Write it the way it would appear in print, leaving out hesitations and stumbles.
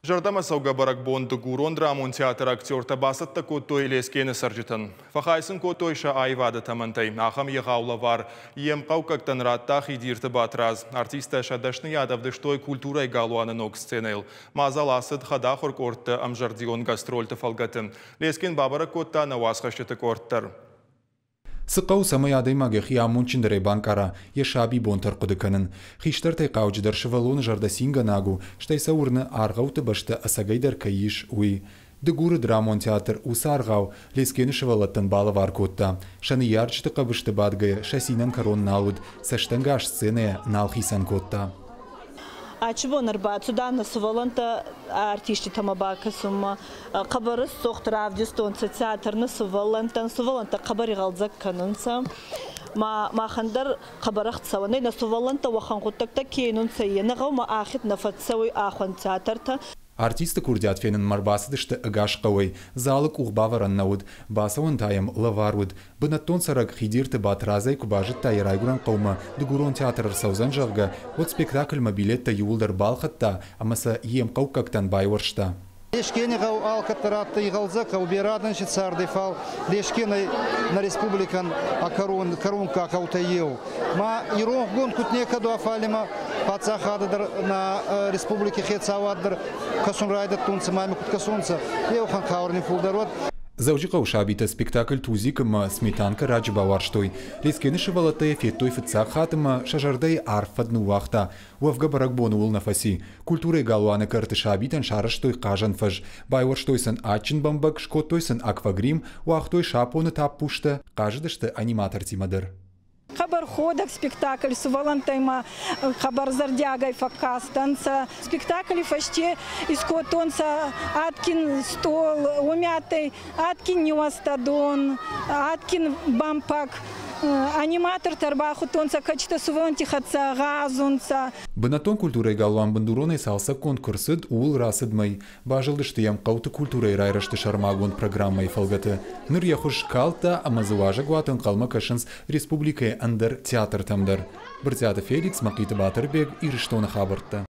Зӕрдӕмӕцӕугӕ бӕрӕгбон Дыгурон драмон театры актертӕ бацӕттӕ кодтой Лескены цӕрджытӕн. Фӕхай сын кодтой сӕ аивады тӕмӕнтӕй. Ахӕм егъау лӕвар йе мхъӕуккӕгтӕн радта Хидирты Батрадз. Артисттӕ сӕ дӕсныйад ӕвдыстой культурӕйы галуаны ног сценӕйыл. Мадзал ацыд хӕдахуыр къордты ӕмзӕрдион гастрольты фӕлгӕты. Лескен бабӕрӕг кодта нӕ уацхӕсджыты къорд дӕр. Цы хъӕуы, цӕмӕй адӕймаг йӕхи амондджындӕрӕй банкъара, йӕ сабибонтӕ ӕрхъуыды кӕнын. Хистӕртӕй хъауджыдӕр сывӕллоны зӕрдӕ цингӕнаг у, стӕй сӕ уырны, аргъӕутты бӕстӕ ӕцӕгӕйдӕр кӕй ис, уый. Дыгуры драмон театр уыцы аргъау Лескены сывӕллӕттӕн балӕвар кодта. Сӕ ныййарджыты хъӕбысты бадгӕйӕ сӕ цинӕн кӕрон нал уыд, цӕстӕнгас сценӕйӕ нал хицӕн кодта. Ачи бон ӕрбацудан нӕ сувӕллӕнттӕ артисттитӕмӕ бакӕсунмӕ. Хъӕбӕр исцохт равдистонцӕ театр нӕ сувӕллӕнттӕн. Сувӕллӕнттӕ хъӕбӕр игъӕлдзӕг кӕнунцӕ. Ма махӕн дӕр хъӕбӕр ӕхцӕуӕн ӕй, нӕ сувӕллӕнттӕ уӕхӕн гъуддӕгтӕ ке уинунцӕ, е нӕ гъӕумӕ ахид нӕ фӕццӕуй ахуӕн театртӕ. Артисты курдиат фенынмӕ ӕрбацыдысты ӕгас хъӕуӕй. Залы къух бавӕрӕн нӕ уыд. Бацӕуӕн та йӕм лӕвар уыд. Бынӕттон цӕрӕг Хидирты Батрадзӕй куы базыдта йӕ райгуырӕн хъӕумӕ дыгурон театр ӕрцӕудзӕн, зӕгъгӕ, уӕд спектакльмӕ билеттӕ иууылдӕр балхӕдта ӕмӕ сӕ йе мхъӕуккӕгтӕн байуӕрста. Лескени гъӕу алкӕддӕр адтӕй игъӕлдзӕг гъӕу, берӕ адӕн си цардӕй, фал Лескен ӕй нӕ республикӕн кӕронкка гъӕутӕй еу. Ма иронхгонд куд некӕд уа, фал имӕ паддзахадӕ дӕр нӕ республики хецауад дӕр кӕсун райдӕдтонцӕ, ма имӕ куд кӕсонцӕ, еуӕхӕн хабар ни фулдӕр уӕд. Дзӕуджыхъӕуы сабитӕ спектакль «Тузик» ӕмӕ «Сметанка» раджы бауарзтой. Лескены сывӕллӕттӕ йӕ федтой фыццаг хатт ӕмӕ сӕ зӕрдӕйы арф фӕд ныууагъта. Уӕвгӕ бӕрӕгбон ууыл нӕ фӕци. Культурӕйы галуаны кӕрты сабитӕн сарӕзтой хъазӕн фӕз. Байуӕрстой сын адджын бӕмбӕг, скодтой сын аквагрим, уагътой сапоны таппузтӕ, хъазыдысты аниматортимӕ дӕр. Хъӕбӕр ходӕг спектакль сувӕллӕнттӕй ма хъӕбӕр зӕрдиагӕй фӕккастӕнцӕ. Спектакли фӕсте искодтонцӕ адгин стъол, уоми адтӕй адгин ниуӕзтӕдон, адгин бӕмпӕг. Аниматортӕ ӕрбахудтонцӕ кӕчтӕ сувӕллӕнтти хӕццӕ гъазунцӕ. Бынӕттон культурӕйы галуан бындуронӕй цалцӕггонд куы рцыд, ууыл рацыд мӕй. Базылдысты йӕм хъӕуты культурӕйы райрӕзты сӕрмагонд программӕйы фӕлгӕты. Ныр йӕ хуыз скалдта ӕмӕ дзы уазӕгуаты ӕнхъӕлмӕ кӕсынц республикӕйы ӕндӕр театртӕм дӕр. Брытъиаты Феликс, Мӕхъиты Батырбег, Ирыстоны хабӕрттӕ.